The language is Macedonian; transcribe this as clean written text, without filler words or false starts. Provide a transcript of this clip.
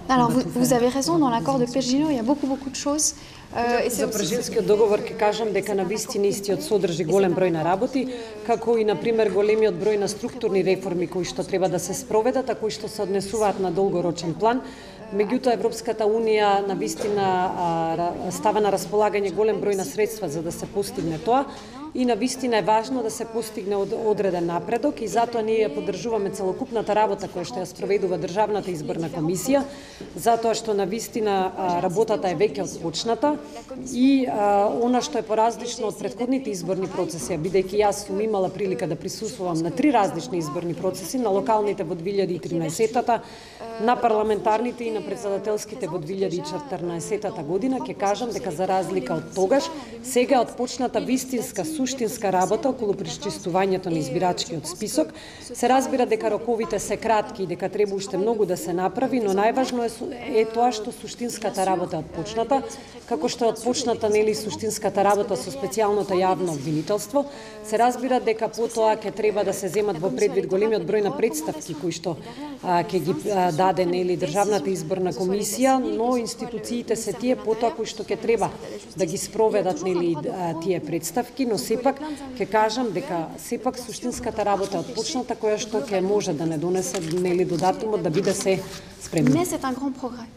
Alors, vous avez raison, dans l'accord de Pejino, il y a beaucoup de choses. За Прежинскиот договор ќе кажам дека на вистина истиот содржи голем број на работи, како и на пример големиот број на структурни реформи кои што треба да се спроведат, а кои што се однесуваат на долгорочен план. Меѓутоа Европската унија на вистина става на располагање голем број на средства за да се постигне тоа. И на вистина е важно да се постигне одреден напредок и затоа ние ја поддржуваме целокупната работа која што ја спроведува Државната изборна комисија, затоа што на вистина работата е веќе отпочната и она што е поразлично од претходните изборни процеси, бидејќи јас сум имала прилика да присуствувам на 3 различни изборни процеси, на локалните во 2013-та, на парламентарните и на председателските во 2014 година, ќе кажам дека за разлика од тогаш, сега е отпочната вистинска суштинска работа околу пречистувањето на избирачкиот список. Се разбира дека роковите се кратки и дека треба уште многу да се направи, но најважно е тоа што суштинската работа е отпочната, како што е отпочната нели суштинската работа со специјалното јавно обвинителство. Се разбира дека потоа ќе треба да се земат во предвид големиот број на представки кои што ќе ги даде нели Државната изборна комисија, но институциите се тие потоа кои што ќе треба да ги спроведат нели тие представки, но сепак ќе кажам дека сепак суштинската работа е отпочната која што ќе може да не донесе нели до датумот да биде се спремно. Mais c'est un grand progrès.